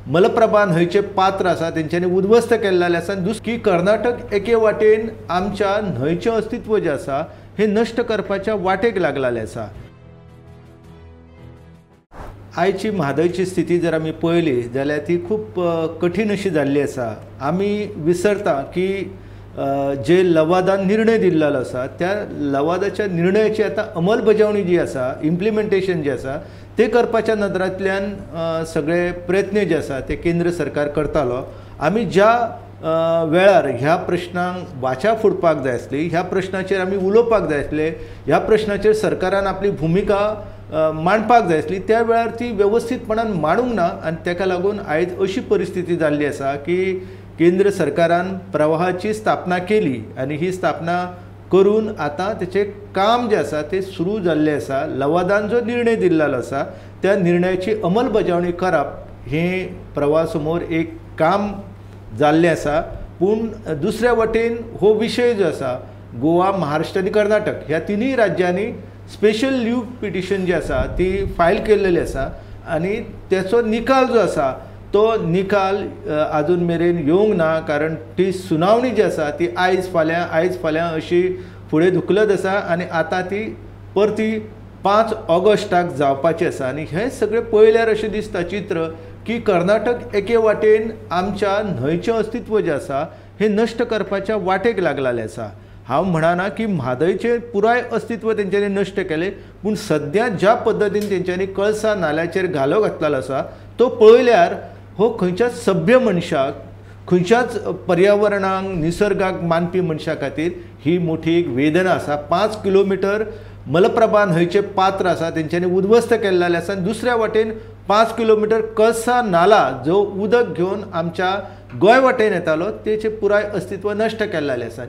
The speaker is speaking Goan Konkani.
मलप्रभा न्हंयचें पात्र आसा तेंच्यांनी उद्ध्वस्त केल्लें आसा. आनी की कर्नाटक एके वाटेन आमच्या न्हंयचें अस्तित्व जें आसा हें नश्ट करपाच्या वाटेक लागलेलें आसा. आयची म्हादयची स्थिती जर आमी पळयली जाल्यार ती खूब कठीण अशी जाल्ली आसा. आमी विसरता की जे लवादान निर्णय दिल्लो आसा त्या लवादाच्या निर्णयाची आतां अंमलबजावणी जी आसा, इम्प्लिमेंटेशन जें आसा तें करपाच्या नदरांतल्यान सगळे प्रयत्न जे आसा ते केंद्र सरकार करतालो. आमी ज्या वेळार ह्या प्रश्नांक वाचा फोडपाक जाय आसली, ह्या प्रश्नाचेर आमी उलोवपाक जाय आसले, ह्या प्रश्नाचेर सरकारान आपली भुमिका मांडपाक जाय आसली, त्या वेळार ती वेवस्थीतपणान मांडूंक ना आनी ताका लागून आयज अशी परिस्थिती जाल्ली आसा की केंद्र सरकारान प्रवाहाची स्थापना केली आनी ही स्थापना करून आतां तेचें काम जें आसा तें सुरू जाल्लें आसा. लवादान जो निर्णय दिल्लो आसा त्या निर्णयाची अंमलबजावणी करप हें प्रवाहा समोर एक काम जाल्लें आसा. पूण दुसऱ्या वटेन हो विशय जो आसा गोवा, महाराष्ट्र आनी कर्नाटक ह्या तिनूय राज्यांनी स्पेशल लीव पिटिशन जी आसा ती फायल केल्लेली आसा आनी तेचो निकाल जो आसा तो निकाल आजून मेरेन येवंक ना, कारण ती सुनावणी जी आसा ती आयज फाल्यां आयज फाल्यां अशी फुडें धुकलत आसा आनी आतां ती परती 5 ऑगस्टाक जावपाची आसा. आनी हें सगळें पळयल्यार अशें दिसता चित्र की कर्नाटक एके वाटेन आमच्या न्हंयचें अस्तित्व जें आसा हें नश्ट करपाच्या वाटेक लागलेलें आसा. हांव म्हणना की म्हादयचें पुराय अस्तित्व तेंच्यांनी नश्ट केलें, पूण सद्या ज्या पद्दतीन तेंच्यांनी कळसा नाल्याचेर घालो घातलेलो आसा तो पळयल्यार हो खंयच्याच सभ्य मनशाक, खंयच्याच पर्यावरणाक, निसर्गाक मानपी मनशा खातीर ही मोठी एक वेदना आसा. 5 किलोमिटर मलप्रभा न्हंयचें पात्र आसा तेंच्यांनी उद्ध्वस्त केल्लें आसा आनी दुसऱ्या वाटेन 5 किलोमिटर कळसा नाला जो उदक घेवन आमच्या गोंय वाटेन येतालो तेचें पुराय अस्तित्व नश्ट केल्लें आसा.